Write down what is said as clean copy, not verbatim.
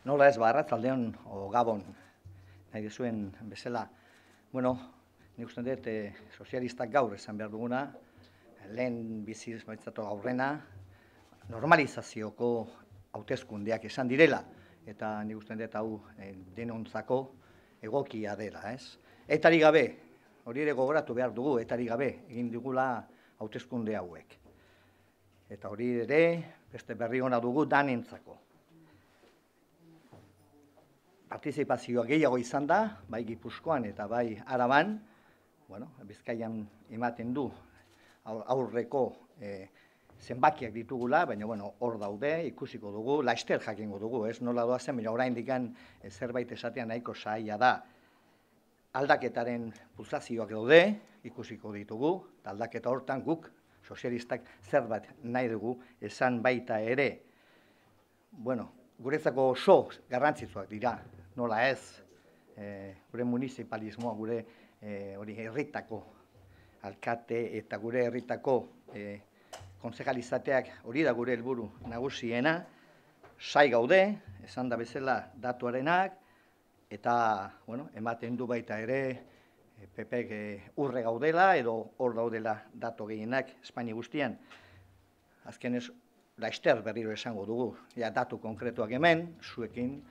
Nola ez arratzaldeon o gabon, nahi duzuen bezala. Bueno, nik uste dut sozialistak gaur esan behar duguna, lehen biziz baitzatu aurrena, normalizazioko hauteskundeak esan direla, eta nik uste dut hau denontzako egokia dela, ez? Etari gabe, hori ere gogoratu behar dugu, etari gabe egin digula hauteskunde hauek. Eta hori ere, beste berri ona dugu danentzako. Partizipazioa gehiago izan da, bai Gipuzkoan eta bai Araban, Bizkaian ematen du aurreko zenbakiak ditugula, baina hor daude, ikusiko dugu, laster jakingo dugu, ez nola doazen, baina oraindik zerbait esatea nahiko zaila da. Aldaketaren pulsazioak daude, ikusiko ditugu, eta aldaketa hortan guk, sozialistak zerbait nahi dugu, esan baita ere, guretzako oso garrantzitsuak dira, nola ez, gure municipalismoa, gure herritako alkate eta gure herritako kontsejalizateak hori da gure helburu nagusiena, sai gaude, esan da bezala datuarenak, eta ematen du baita ere PPek urre gaudela edo hor daudela datu gehienak Espainia guztian. Azkenez, laster berriro esango dugu, datu konkretuak hemen, zuekin